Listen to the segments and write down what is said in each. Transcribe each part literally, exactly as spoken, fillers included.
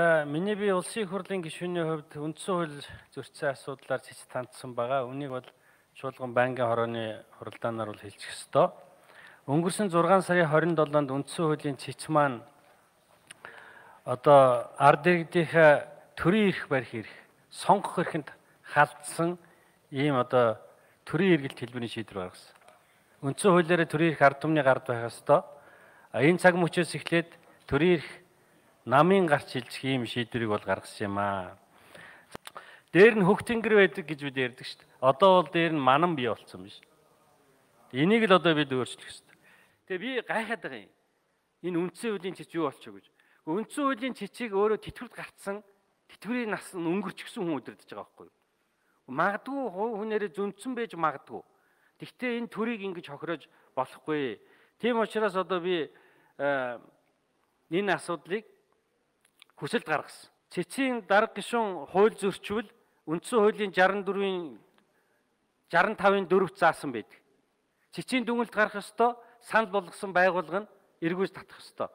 Миний би улсын хурлын гишүүний хувьд үндсэн хууль зөрчсөн асуудлаар цэц тандсан байгаа. Үнийг бол чуулган байнгын хорооны хуралдаанаар бол хэлчих ёстой. Өнгөрсөн зургаан сарын хорин долоонд үндсэн хуулийн цэц маань одоо ард иргэдийнхээ төрийн эрх барих эрх, сонгох эрхэнд халдсан ийм одоо төрийн эргэлт хэлбэрийн шийдвэр гаргасан. Үндсэн хуулиараа төрийн эрх ард түмний гард байх ёстой. Энэ цаг мөчөөс эхлээд төрийн эрх намын гарч хилжих ийм шийдвэрийг бол гаргасан юм аа. Дээр нь хөх тэнгэр байдаг гэж бид ярьдаг шүү дээ. Одоо бол дээр нь манан бий болсон биш. Энийг л одоо бид өөрчлөх ёстой. Тэгээ би гайхаад байгаа юм. Энэ үндсэн хуулийн цэц юу болчих вэ гэж. Үндсэн хуулийн цэцийг өөрөө тэтгэврт гарцсан тэтгэврийн нас нь өнгөрчихсөн хүн өдөрдөж байгаа байхгүй юу? Магадгүй хүнээрээ зөнцөн байж магадгүй. Гэхдээ энэ төрийг ингэж хохироож болохгүй. Тийм учраас одоо би энэ асуудлыг хүсэлт гаргасан. Цэцийн дарга гишүүн хууль зөрчвөл үндсэн хуулийн шестьдесят дөрвийн шестьдесят тавын дөрөвт заасан байдаг. Цэцийн дүгнэлт гарах ёстой, санал болгосон байгууллага нь эргүүлж татах ёстой.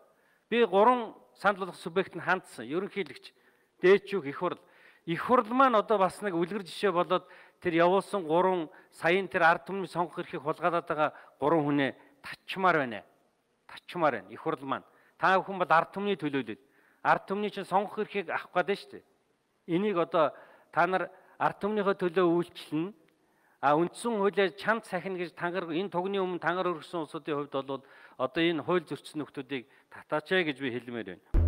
Би гурван санал болгох субъект нь хандсан. Ерөнхийлөгч, дээдчүүх, их хурл. Их хурл маань одоо бас нэг үлгэр жишээ болоод тэр явуулсан гурван саяын тэр ард түмний сонгох эрхийг хулгайлаад байгаа гурван хүнээ татчмаар байна. Татчмаар байна. Их хурл маань. Та бүхэн бол ард түмний төлөөлөл. Ард түмний чинь сонгох эрхийг авах гэдэг шүү дээ. Энийг одоо та нар ард түмнийхөө төлөө үйлчлэн а үндсэн хуулиар чанд сахина гэж тангар энэ тугны өмнө тангар өргөсөн улсуудын хувьд бол одоо энэ хууль зөрчсөн нөхдүүдийг татаач гэж би хэлмээр байна.